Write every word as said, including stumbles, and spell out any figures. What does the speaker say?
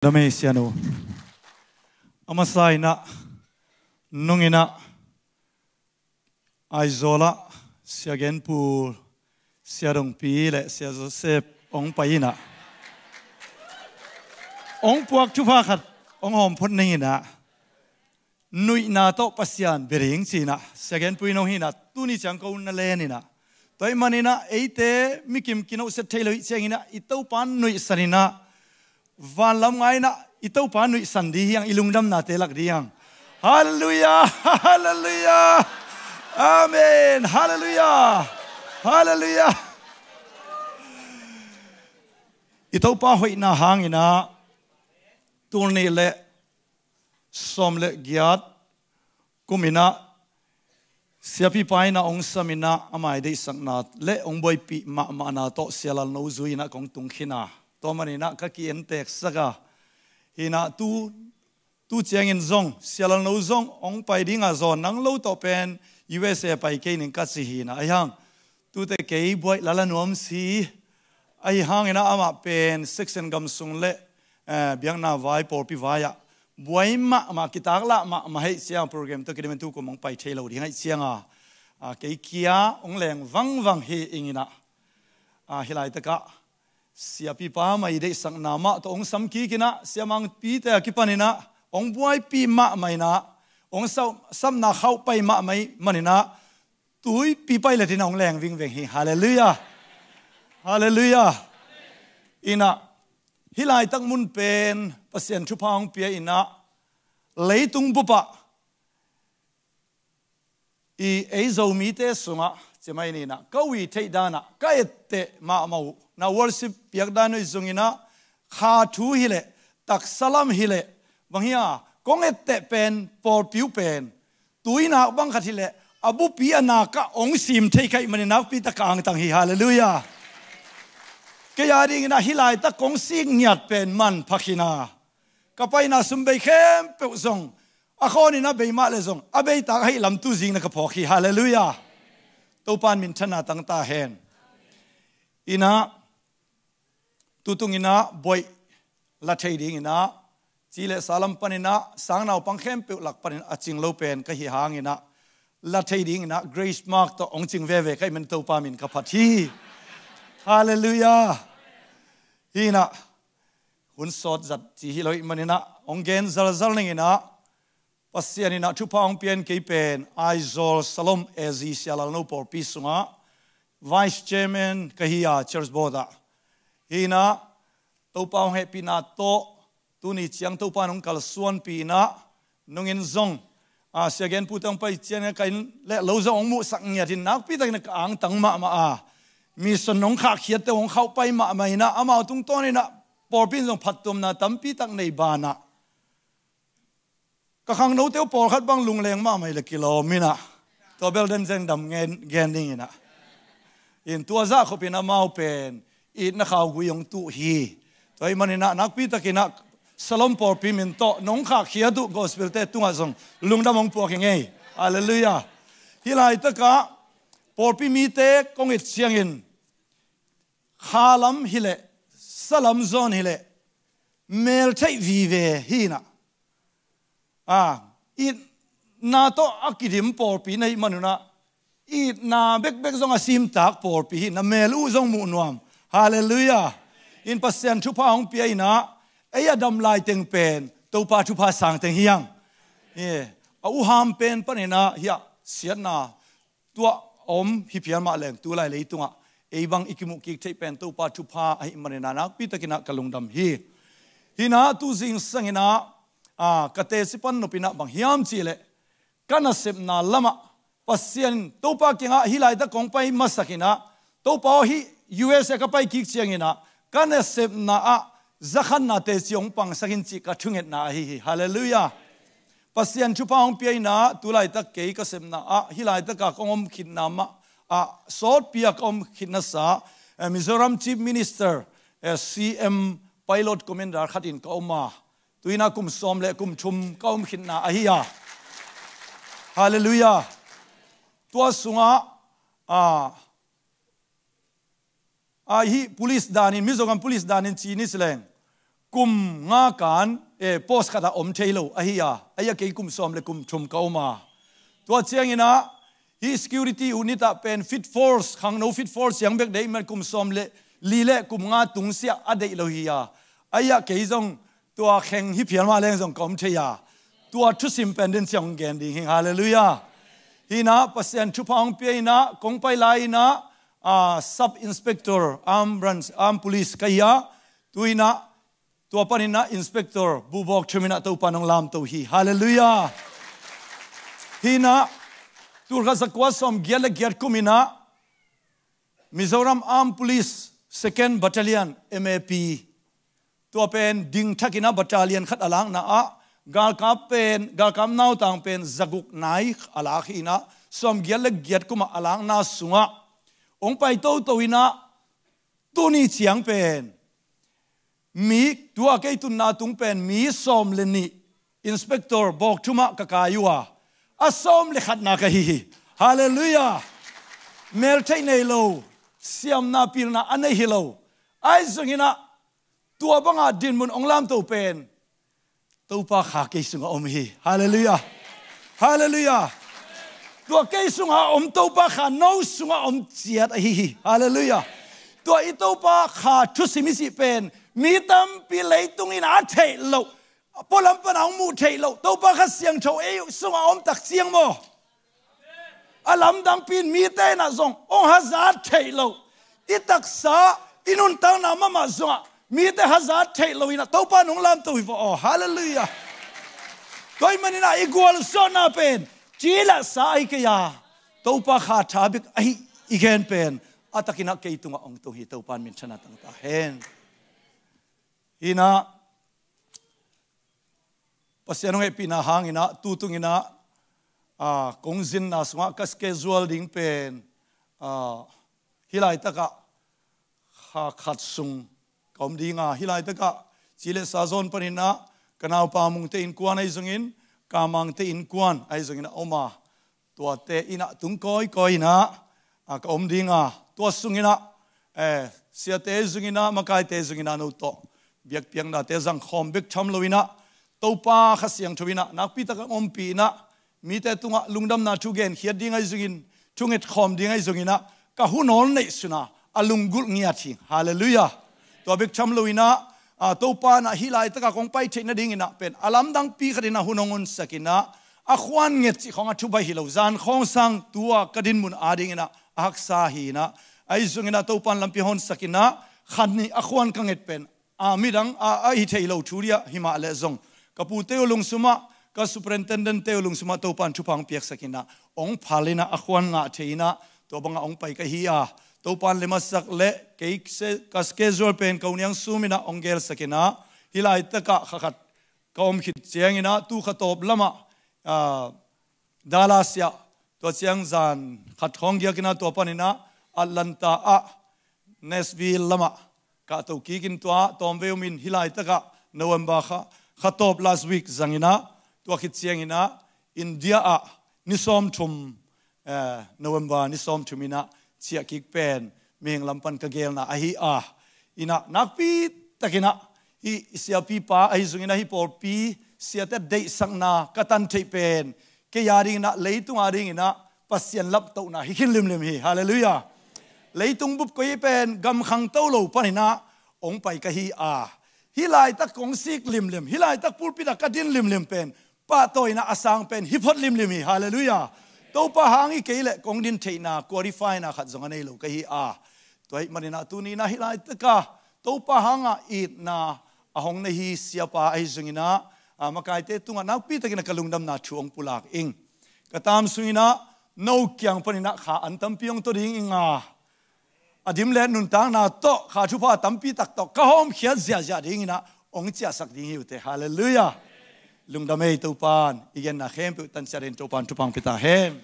Damei sianu. A masa inah, nung inah, Aizawl ah Sia Genpu, Sia Dongpi le Sia Joseph hong pai inah, hong puak thupha khat hong hawm phot ning inah, nuihna tawh Pasian bia ding ci inah Sia Genpu in hong hi inah, tuni ciang ko na len inah, tua ahih man inah eite mikim kinohset thei lo ih ciang inah i Topa nuihsan inah, vanlam ngai inah i Topa nuihsan ding hi hang, i lungdamnate lak ding hi hang. Halleluiah. Halleluiah. Amen. Halleluiah. Halleluiah. I Topa hoihna hang inah, tul nih le sawm le giat kum inah siapipa inah hong sam inah, ama i deihsakna le hong buaipih mahmahna tawh Sia Lalno zui inah kong tungkhin a, tua man inah ka ki-entek sak a, hi inah tu, tu ciangin zong Sia Lalno zong hong pai ding a, zawn nang lo tawh pen U S A pai kei ning ka ci hi inah, ahi hang tute kei buaih lala nuam si, ahi hang inah amah pen section gam sung le, eh, biakna vai, pawlpi vai ah buai mahmah, kitaklah mahmah hi ih ciang, program tawh kidim in tu kum hong pai thei lo ding ahih ciang a, a, kei kia hong leng vangvang hi ing inah, a, hih laitak ah siapipa ama i deihsakna mah tawh hong sam kik inah, siamangpite a kipan inah hong buaipih mahmah inah, hong sau-, sapna khauh pai mahmah ih man inah, tuipi pai le tin hong leng vingveng hi. Halleluiah. Halleluiah. Inah, hih laitak mun pen Pasian thupha hong pia inah, leitung bup ah i ei Zomite sungah, cimai ni inah, ka ui theih dan ah ka etteh mahmah uh, na worship piak dan uh i zong inah, kha thu hi leh, taksa lam hi leh, bang hi a, kong etteh pen, pawlpi uh pen tuinak bang khat hi leh, a bupi a nak ah hong sim thei ka hih man inah nakpi tak ka angtang hi. Halleluiah. Kei a ding inah hih laitak kong sik ngiat pen manpha khin a, ka paina sum bei khempeuh zong, a khawn inah bei mah le zong, a bei tak ahih lam tu zing na ka phawk hi. Halleluiah. Topa in minthanna tang ta hen. Inah, tutung inah buaih la thei ding inah, ci le sa lam pan inah, sang naupang khempeuh lak pan inah a cing lo pen ka hih hang inah, la thei ding inah grace mark tawh hong cing veve ka hih man Topa min ka phat hi. Halleluiah. Hi inah, hun sawt zat ci hi lo ih man inah, hong gen zalzal ning inah, Pasian inah thupha hong pia in kei pen Aizawl Salom A Z Sia Lalno pawlpi sungah Vice Chairman ka hi a, Church Board ah. Hi inah, Topa hong hehpihna tawh tuni ciang Topa in hong kalsuanpih inah, nungin zong, a, Sia Genpu te hong pai ciangin ka inn le lo zong hong muhsak ngiat in nakpi takin ka angtang mahmah a, mission hong khahkhiat te hong khauh pai mahmah inah, amau tungtawn inah pawlpi in zong phattuamna tampi tak nei banah, ka khangnote uh pawlkhat bang lungleng mahmah ih le kilawm inah, tua bel den zeng dam gen, gen ding inah, in tua zah khop in amau pen itna khaugui hong tuh hi. Tua ahih man inah nakpi tak inah Salom pawlpi min tawh nong khahkhiat uh gospel te tungah zong lungdam hong puak hi ing ei. Halleluiah. Hih laitak ah pawlpi mite kong et ciangin, kha lam hi leh, sa lam zawn hi leh, mel theih vive hi inah, a, itna tawh a kidim pawlpi na hih man un ah, itna bekbek zong a simtak pawlpi hi inah, mel uh zong muh nuam. Halleluiah. In Pasian thupha hong pia inah, ei a dam lai teng pen Topa thupha sang teng hi hang. Eh, a uham pen pan inah hiah siatna tuah a om hi phial mah leng, tulai leitungah ei bang i kimuh kik theih pen Topa thupha ahih man inah nakpi tak inah ka lungdam hi. Hi inah tu zingsang inah, a, ka teci pan nop inah bang hiam cih leh, ka nasepna lamah Pasian in Topa kiangah hih laitak kong pai masak inah, Topa aw, hih U S A ka pai kik ciang inah ka nasepna ah zakhatna teci hong pangsak in cih ka thungetna ahi hi. Halleluiah. Pasian thupha hong pia inah, tulaitak kei ka sepna ah, hih laitak a kong om khitna mah ah, sawtpi a ka om khitna sa, eh, Mizoram Chief Minister, eh, C M Pilot Commander khat in ka om a, tu inah kum sawm le kum thum ka om khitna ahi a. Halleluiah. Tua sungah, a, a, hih police dan in, Mizoram police dan in ci ni ci leng, kum nga kan, eh, post khat ah om thei lo ahi a, ahi a kei kum sawm le kum thum ka om a. Tua ciangin ah, hih security unit ah pen fit force, khangno fit force ciang bek deih man kum sawm le li le kum nga tungsiah a deih lo hi a. Ahi a kei zong tua kheng hi phial mah leng zong ka om thei a. Tua thusim pen den ciang hong gen ding hi. Halleluiah. Hi in ah Pasian thupha hong pia in ah, kong pai lai in ah, ah, Sub Inspector, Armed Branch, Armed Police ka hi a. Tu in ah, tua panin ah Inspector bu bawk thum in ah Topa in hong lamto hi. Halleluiah. Hi in ah, tulkhat zakua sawm giat le giat kum in ah Mizoram Armed Police Second Battalion, M A P, tua pen dingthak in ah battalion khat a lakna ah galkap pen, galkap nautang pen zaguk nai a lak hi in ah, sawm giat le giat kum ah a lakna sungah hong pai toto in ah, tuni ciang pen mi, tua kei tunna tung pen mi sawm le nih, Inspector bawk thum ah ka kai uh a, a sawm le khatna ka hi hi. Halleluiah. Mel theih nei lo, siamna pilna a nei hi lo. Ahi zongin ah tua banga dinmun hong lamto pen Topa kha kei sungah om hi. Halleluiah. Halleluiah. Tua kei sungah om Topa kha no sungah om ciat ahi hi. Halleluiah. Tua i Topa kha thusim i cih pen mi tampi leitung in a theih loh, pualam pan a hong muh theih loh Topa Kha Siangtho ei sungah om tak ciang maw? A lamdangpi in mite in ah zong hong hazat theih loh, i taksa, i nuntakna mahmah zongah mite hazat theih lo in ah Topa in hong lamto hi vaw aw. Halleluiah. Tua ahih manin ah i gualzawhna pen ci le sa ahi kei a, Topa kha tha bek ahi i gen pen a takin ah kei tungah hong tung hi. Topa in minthanna tang ta hen. Hi in ah, Pasian hong hehpihna hangin ah, tu tungin ah, ah, kong zinna sungah ka schedule ding pen, ah, hih laitakah kha khat sung ka om ding a, hih laitakah ci le sa zawn panin ah ka naupa Mungte innkuan ahi zongin, Kamangte innkuan ahi zongin a om a, tuate in ah tung kawikawi in ah, a, ka om ding a, tua sungin ah, eh, siate zungin ah, makaite zungin ah no tawh biakpiaknate zang khawm bek tham lo in ah, Topa Kha Siangtho in ah nakpi takin hong ompih in ah, mite tungah lungdamna thu genkhiat ding ahi zongin, thunget khawm ding ahi zongin ah, ka hun hong neihsun a, a lunggulh ngiat hi. Halleluiah. Tua bek tham lo in ah, a, Topa in ah hih laitakah kong pai theih nadingin ah pen a lamdangpi khat in ah hun hong honsak in ah, a khuan nget cih khawng a thubaih hi lo, zan khawng sang tua ka dinmun adingin ah a haksa hi in ah, ahi zongin ah Topa in lampi hong honsak in ah, khat nih a khuan ka nget pen a midang a, a hi thei lo thu ding ah hi mah leh zong, ka pute uh lungsum ah, ka superintendent-te uh lungsum ah Topa in thupha hong piaksak in ah, hong phal in ah, a khuan ngah thei in ah, tua bangah hong pai ka hi a, Topa in lem a sak leh kei se-, ka schedule pen ka uniang sum in ah hong gelsak in ah, hih laitakah kha khat ka om khit ciangin ah, tu kha tawp lamah, ah, Dallas ah, tua ciang zan khat khawng giak in ah, tua panin ah Atlanta ah, Nashville lamah ka to kik in, tua tawmvei om in, hih laitakah November kha, kha tawp last week zang in ah, tua khit ciangin ah India ah ni sawmthum, eh, November ni sawmthum in ah ciah kik pen mihing lam pan ka gelna ahi a, in ah nakpi takin ah hih siapipa ahi zongin ah, hih pawlpi siate deihsakna ka tan theih pen kei adingin ah, leitung adingin ah Pasian laptohna hi khin limlim hi. Halleluiah. Leitung bup koi pen gam khangto lo panin ah hong pai ka hi a, hih laitak kong sik limlim, hih laitak pulpit ah ka din limlim pen pahtawi in ah a sang pen hi phot limlim hi. Halleluiah. Topa hang hi kei leh kong din theihna qualify-na khat zong a nei lo ka hi a, tua ahih manin ah tuni in ah hih laitakah Topa hangah itna a hong nei hi siapa ahi zongin ah, a, makaite tungah nakpi takin ah ka lungdamna thu hong pulak ing. Ka tam sungin ah no kiang panin ah kha an tampi hong to ding ing a, a dim le nuntakna tawh kha thupha tampi tak tawh ka hawmkhiat ziahziah dingin ah hong ciahsak ding hi uh teh. Halleluiah. Lungdam ei, Topa in i genna khempeuh tan ciat in Topa in thupha hong pia ta hen.